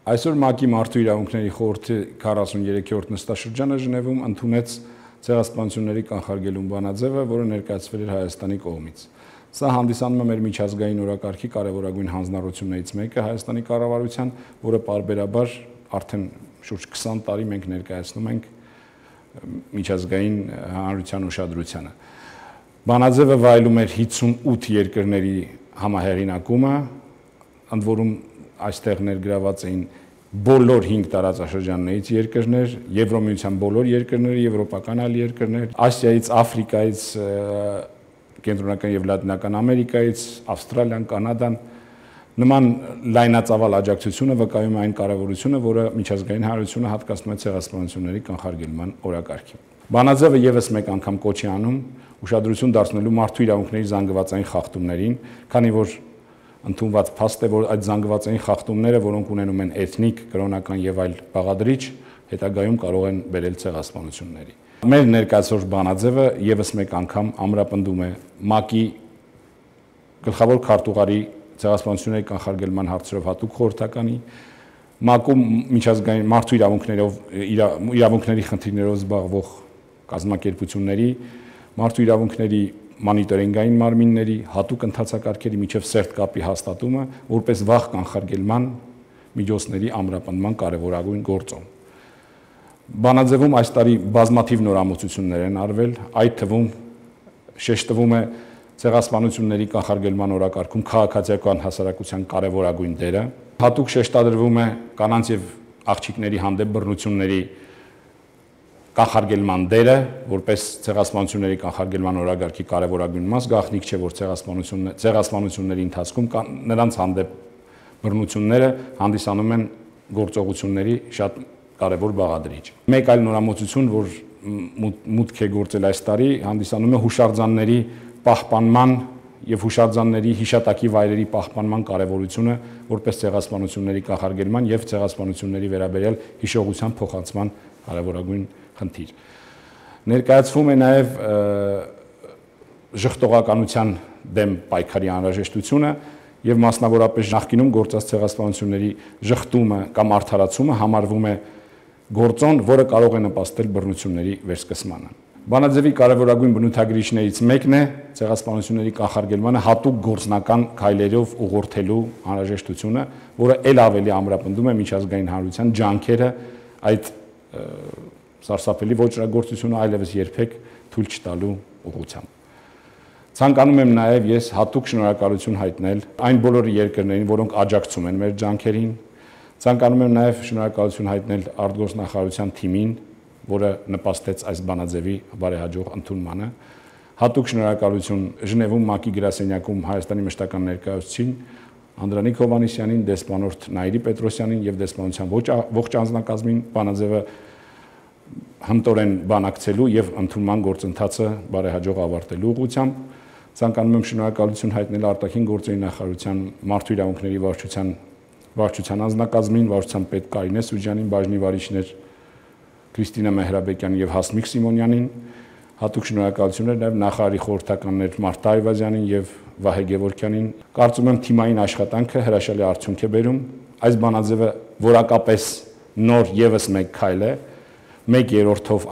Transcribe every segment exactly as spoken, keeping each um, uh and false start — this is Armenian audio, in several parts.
Այսօր ՄԱԿ-ի Մարդու իրավունքների խորհրդի քառասուններեքերորդ նստաշրջանը Ժնևում ընդունեց ցեղասպանությունների կանխարգելում բանաձևը, որը ներկայացվել էր Հայաստանի կողմից։ Սա հանդիսանում է մեր միջազգային օրակարգի կարևորագույն հանձնառություններից մեկը Հայաստանի կառավարության, որը պարբերաբար արդեն շուրջ քսան տարի մենք ներկայացնում ենք միջազգային հանրության ուշադրությանը։ Բանաձևը վայելում էր հիսունութ երկրների համահեղինակումը, ընդ որում այստեղ ներգրաված էին բոլոր հինգ տարածաշրջաններից երկրներ, Եվրոմիության բոլոր երկրները, եվրոպական այլ երկրներ, Ասիայից, Աֆրիկայից, Կենտրոնական եւ Լատինական Ամերիկայից, Ավստրալիան, Կանադան, նման լայնածավալ աջակցությունը վկայում է այն կարևորությունը, որը միջազգային հանրությունը հատկացնում է ցեղասպանությունների կանխարգելման օրակարգին։ Բանաձևը եւս մեկ անգամ կոչ է անում ուշադրություն դարձնելու մարդու իրավունքների զանգվածային խախտումներին, քանի որ ընդունված փաստ է, որ այդ զանգվածային խախտումները, որոնք ունենում են էթնիկ, կրոնական եւ այլ բաղադրիչ, հետագայում կարող են բերել ցեղասպանությունների։ Մեր ներկայացող բանաձևը եւս մեկ անգամ ամրապնդում է ՄԱԿ-ի գլխավոր քարտուղարի ցեղասպանությունների կանխարգելման հարցերով հատուկ խորհրդականի, ՄԱԿ-ում միջազգային մարդու իրավունքներով իրավունքների խնդիրներով զբաղվող կազմակերպությունների, մարդու իրավունքների մոնիտորինգային մարմինների, հատուկ ընթացակարգերի միջև սերտ կապի հաստատումը, որպես վաղ կանխարգելման միջոցների ամրապնդման կարևորագույն գործոն։ Բանաձևում այս տարի բազմաթիվ նորամուծություններ են արվել, այդ թվում շեշտվում է ցեղասպանությունների կանխարգելման օրակարգում քաղաքացիական հասարակության կարևորագույն դերը, հատուկ շեշտադրվում է կանանց եւ աղջիկների հանդեպ բռնությունների կանխարգելման դերը, որպես ցեղասպանությունների կանխարգելման օրակարգի կարևորագույն մաս, գաղտնիք չէ, որ ցեղասպանությունների ընթացքում նրանց հանդեպ բռնությունները հանդիսանում են գործողությունների շատ կարևոր բաղադրիչ։ Մեկ այլ նորամուծություն, որ մուտք է գործել այս տարի, հանդիսանում է հուշարձանների պահպանման եւ հուշարձանների հիշատակի վայրերի պահպանման կարևորությունը, որպես ցեղասպանությունների կանխարգելման եւ ցեղասպանությունների վերաբերյալ հիշողության փոխանցման կարևորագույն խնդիր։ Ներկայացվում է նաև ժխտողականության դեմ պայքարի անհրաժեշտությունը եւ մասնավորապես նախկինում գործած ցեղասպանությունների ժխտումը կամ արդարացումը համարվում է գործոն, որը կարող է նպաստել բռնությունների վերսկսմանը։ Բանաձևի կարևորագույն բնութագրիչներից մեկն է ցեղասպանությունների կանխարգելմանը հատուկ գործնական քայլերով ուղղորդելու անհրաժեշտությունը, որը ել ավելի ամրապնդում է միջազգային հանրության ջանքերը այդ սարսափելի ոճրագործությունը այլևս երբեք թույլ չտալու ուղղությամբ։ Ցանկանում եմ նաև ես հատուկ շնորհակալություն հայտնել այն բոլոր երկրներին, որոնք աջակցում են մեր ջանքերին։ Ցանկանում եմ նաև շնորհակալություն հայտնել արտգործնախարարության թիմին, որը նպաստեց այս բանաձևի բարեհաջող ընդունմանը։ Հատուկ շնորհակալություն Ժնևում ՄԱԿ-ի գրասենյակում Հայաստանի մշտական ներկայացուցիչին Անդրանիկ Հովհաննիսյանին, դեսպանորդ Նայիրի Պետրոսյանին եւ դեսպանության ողջ անձնակազմին բանաձևը հմտորեն բանակցելու եւ ընդունման գործընթացը բարեհաջող ավարտելու ուղղությամբ։ Ցանկանում եմ շնորհակալություն հայտնել արտաքին գործերի նախարարության մարդու իրավունքների վարչության վարչության անձնակազմին, վարչության պետ Կարինե Սուջյանին, բաժնի վարիչներ Քրիստինա Մեհրաբեկյանին եւ Հասմիկ Սիմոնյանին, հատուկ շնորհակալություններ նաեւ նախարարի խորհրդականներ Մարթա Այվազյանին եւ Վահե Գևորգյանին։ Կարծում եմ թիմային աշխատանքը հրաշալի արդյունք է բերում։ Այս բանաձևը որակապես նոր եւս մեկ քայլ է, մեկ երրորդով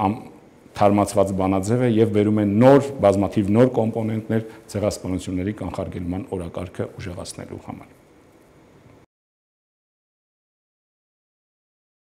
թարմացված բանաձև է եւ բերում է նոր բազմաթիվ նոր կոմպոնենտներ ցեղասպանությունների կանխարգելման օրակարգը ուժեղացնելու համար։